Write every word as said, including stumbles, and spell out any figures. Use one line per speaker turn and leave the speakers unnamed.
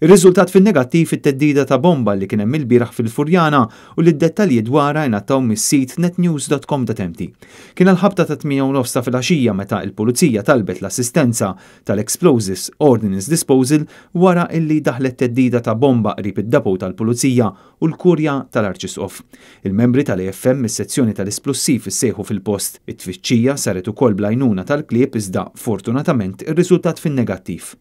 Ir-riżultat fin-negattiv it-theddida ta' bomba li kien hemm ilbieraħ fil-Furjana u li d-dettalji dwarha ingħataw mis-sit netnews punt com punt M T. Kien għal-ħabta ta' tmienja u nofs ta' filgħaxija meta il-pulizija talbet l-assistenza tal-Explosives Ordnance Disposal wara illi daħlet theddida ta' bomba qrib id-depot tal-pulizija u l-kurja tal-Arċisqof. Il-membri tal-A F M mis-sezzjoni tal-isplussiv issejħu fil-post. It-tfittxija saret ukoll bl-għajnuna tal-klieb, iżda fortunatament ir-riżultat fin-negattiv.